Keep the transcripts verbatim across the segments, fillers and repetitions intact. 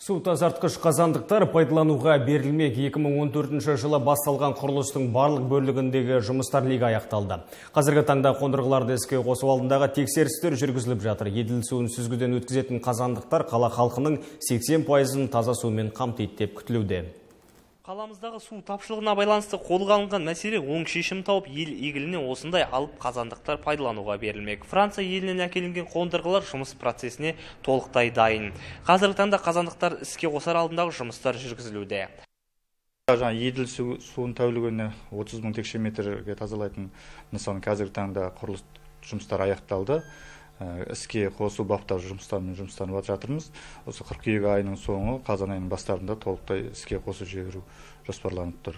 Су тазартқыш қазандықтар пайдалануға берілмек. екі мың он төртінші жылы басталған құрылыстың барлық бөлігіндегі жұмыстар легі аяқталды. Қазіргі таңда қондырғыларды іске қосу алдындағы тексерістер жүргізіліп жатыр. Еділ суын сүзгіден өткізетін қазандықтар қала халқының сексен пайызын таза сумен қамтиды деп күтілуде. Қаламыздағы су тапшылығына байланысты қолға алынған мәселе оң шешім тауып, ел игіліне осындай алып қазандықтар пайдалануға берілмек. Франция елінен әкелінген қондырғылар жұмыс процесіне толықтай дайын. Қазіргі таңда қазандықтар іске қосар алдындағы жұмыстар жүргізілуде. Жаңа Еділ суын тәулігіне отыз мың текше метрге тазалайтын нысан қазіргі таңда құрылыс жұмыстар аяқталды. Іске қосу баптау жұмыстарымен жұмыстанып жатырмыз. Осы қыркүйек айының соңы, қазан айының бастарында толықтай іске қосу жіберу жоспарланып тұр.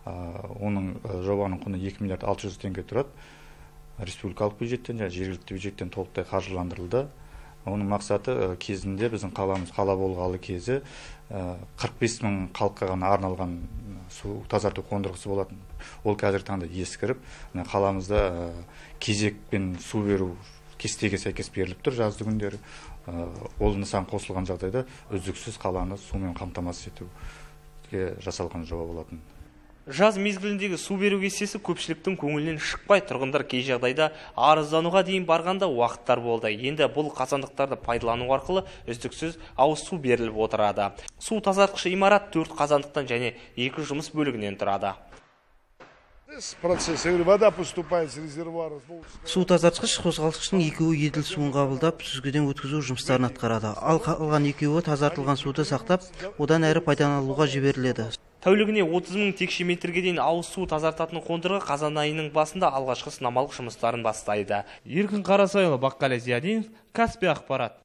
Оның жобаның құны екі миллиард алты жүз теңге тұрады. Республикалық бюджеттен, жергілікті бюджеттен толықтай қаржыландырылды. Оның мақсаты кезінде біздің қаламыз қала болғалы кезі қырық бес мың халыққа ғана арналған су тазарту қондырғысы болатын. Ол қазіргі таңда ескіріп, қаламызда кезекпен су беру кестеге сәйкес беріліп тұр жазды күндері. Ол нысан қосылған жағдайда үздіксіз қаланы сумен қамтамасыз етуге жасалған жоба болатын. Жаз мезгіліндегі су беру кестесі көпшіліктің көңілінен шықпай, тұрғындар кей жағдайда арыздануға дейін барғанда уақыттар болды. Енді бұл қазандықтарды пайдалану арқылы үздіксіз ауыз су беріліп отырады. Су тазартқыш имарат төрт қазандықтан және екі жұмыс бөлігінен тұрады. Су тазартқыш қозғалтқыштың екеуі Еділ суын қабылдап, сүзгіден өткізу жұмыстарын атқарады. Ал қалған екеуі тазартылған суды сақтап, одан әрі пайдалануға жіберіледі. Тәулігіне отыз мың текше метрге дейін ауыз су тазартатын қондырғы қазан айының басында алғашқы сынамалық жұмыстарын бастайды. Еркін Қарасайұлы, Баққали Зиядинов, Каспий ақпарат.